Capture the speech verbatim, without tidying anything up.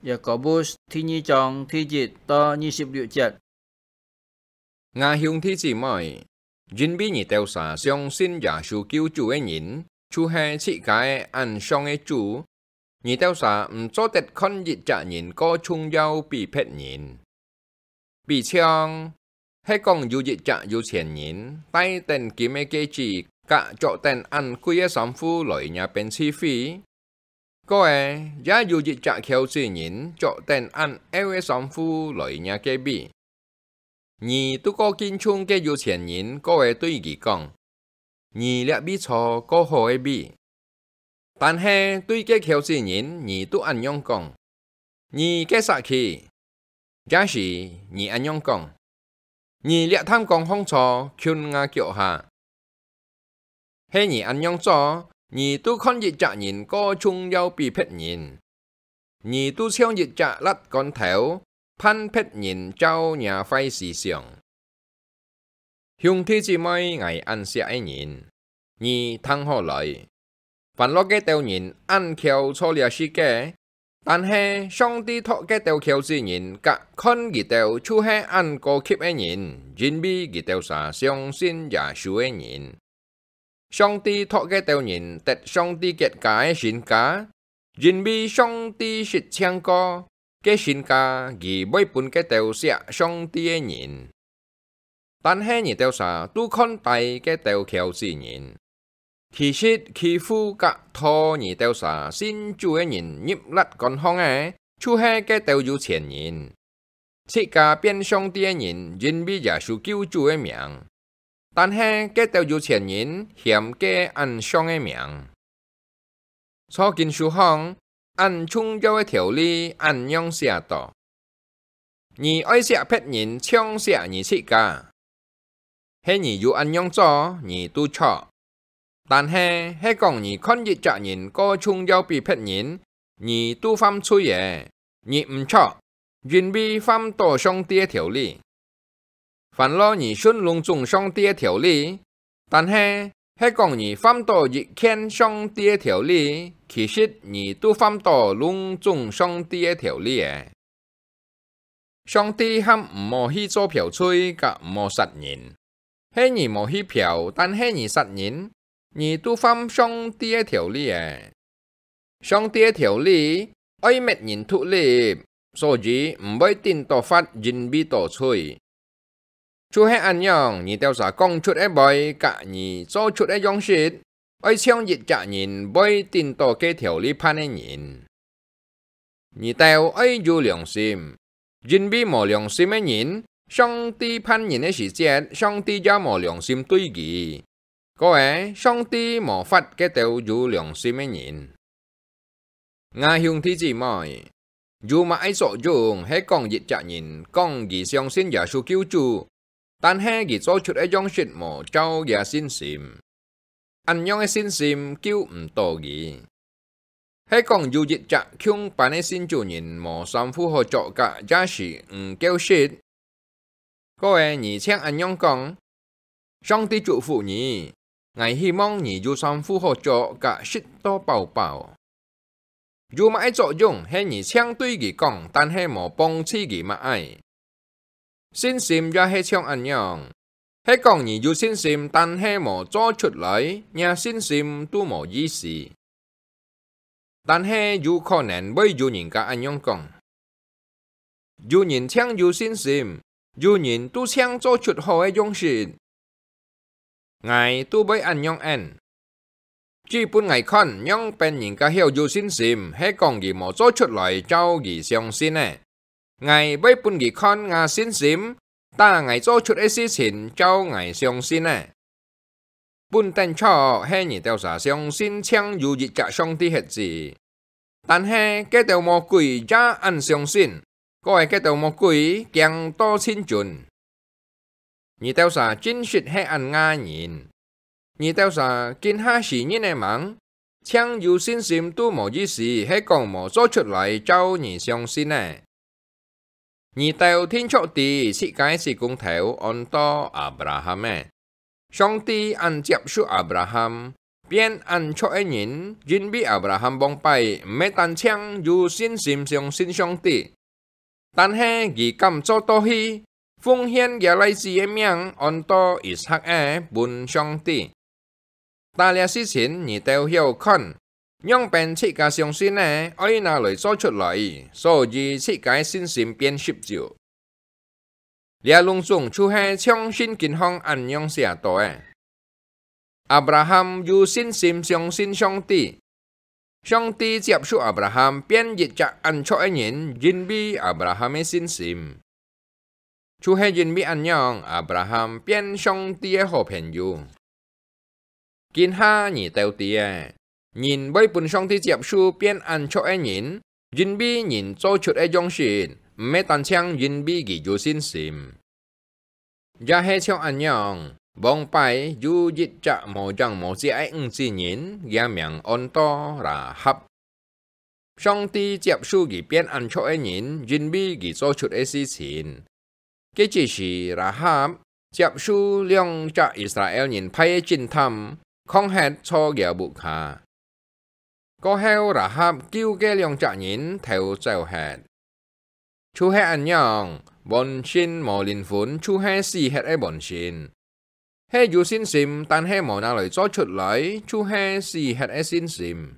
Yakobus第二章第一到二十六節。吾兄弟姊妹，因為你兜儕相信耶穌救主个人，就係自家个恁相个主，你兜儕毋做得看一隻人過重要比別人。 比像，係講有一隻有錢人帶等金个戒指，佮著等恁貴个衫褲來若邊聚會，過仔也有一隻撟子人著等恁漚个衫褲來若該位。你渡過敬重該有錢人，過仔對佢講：「你這位坐過好个位。」 但係對該撟子人，你渡恁樣講：「你該煞去！」也係你恁樣講：「你這探光項坐，近吾腳下！」係你恁樣做，你渡看一隻人過重要比別人，你渡像一隻竻稈頭， 盼別人照若壞思想。兄弟姊妹，𠊎恁惜个人，你聽好來！凡落該兜人恁撟坐這世界，但係上帝擇該兜撟子人，佮看佢兜就係恁高級个人，因為佢兜儕相信耶穌个人。 上帝擇該兜人得上帝國家个身價，因為上帝實情講：「該身價佢會分該兜惜上帝个人。」但係你兜儕都看低該兜撟子人，其實欺負佮拖你兜儕信主个人入竻稈項个，就係該兜有錢人。 自家變上帝个人，因為耶穌救主个名，但係該兜有錢人嫌該恁相个名。在經書項，恁重要个條例恁樣寫到：「你愛惜別人像惜你自家。」 係你有恁樣做，你都著。但係，係講你看一隻人過重要比別人，你都犯罪了，你毋著，因為犯到上帝个條例。凡落你順攏總上帝个條例，但係，係講你犯到一件上帝个條例，其實你都犯到攏總上帝个條例了。 上帝喊毋好去做剽罪佮毋好殺人。係你無去剽，但係你殺人，你都犯上帝个條例了。上帝个條例愛搣人獨立，所以毋會頂到法，因為到罪。就係恁樣，你兜儕講出个話佮你做出个樣式，愛像一隻人會頂到該條例判个人。 你兜愛有良心，因為無良心个人，上帝判人个時節，上帝也無良心對佢。過仔，上帝無罰該兜有良心个人。吾兄弟姊妹，有麼个作用，係講一隻人講佢相信耶穌救主， 但係佢做出个樣式無照厥信心，恁樣个信心救毋到佢。係講有一隻共班个信主人無衫褲好著，也係毋夠食，過仔你淨恁樣講：「上帝祝福你，𠊎希望你有衫褲好著，也食到飽飽。」 有麼个作用，係你淨對佢講，但係無幫助佢麼个？信心也係像恁樣，係講你有信心，但係無做出來，若信心都無意思。但係有可能會有人家恁樣講：「有人淨有信心，有人都淨做出好个樣式， 𠊎都會恁樣應。指分𠊎看，仰般人家曉有信心，係講佢無做出來照佢相信个。𠊎會分佢看吾信心，打𠊎做出个事情照𠊎相信个。」本等著係你兜儕相信淨有一隻上帝核子， 但係該兜魔鬼也恁相信，過仔該兜魔鬼驚到盡顫。你兜儕真實係恁𠊎人！你兜儕今下死人仔吂？淨有信心都無意思，係講無做出來照你相信个。 你兜定著知自家个死工頭安到亞伯拉罕仔。上帝恁接受亞伯拉罕，變恁著个人，因為亞伯拉罕往擺毋係單淨有信心相信上帝，但係佢敢做到去奉獻厥倈子个命安到以撒个分上帝。打這事情你兜曉看，仰般自家相信个愛拿來做出來，所以自家个信心變十足。這攏總就係像聖經項恁樣寫到个。亞伯拉罕有信心相信上帝，上帝接受亞伯拉罕變一隻恁著个人，因為亞伯拉罕个信心。就係因為恁樣，亞伯拉罕變上帝个好朋友。今下你兜知个，人會分上帝接受變恁著个人，因為人做出个樣式，毋係單淨因為佢有信心。也係像恁樣，往擺有一隻無影無跡个女子人，厥名安到拉合。上帝接受佢變恁著个人，因為佢做出个事情。該只時拉合接受兩隻以色列人派个偵探，囥忒在厥屋下。過後拉合救該兩隻人偷走忒。就係恁樣，門信無靈魂就係死忒个門信。係有信心，但係無拿來做出來，就係死忒个信心。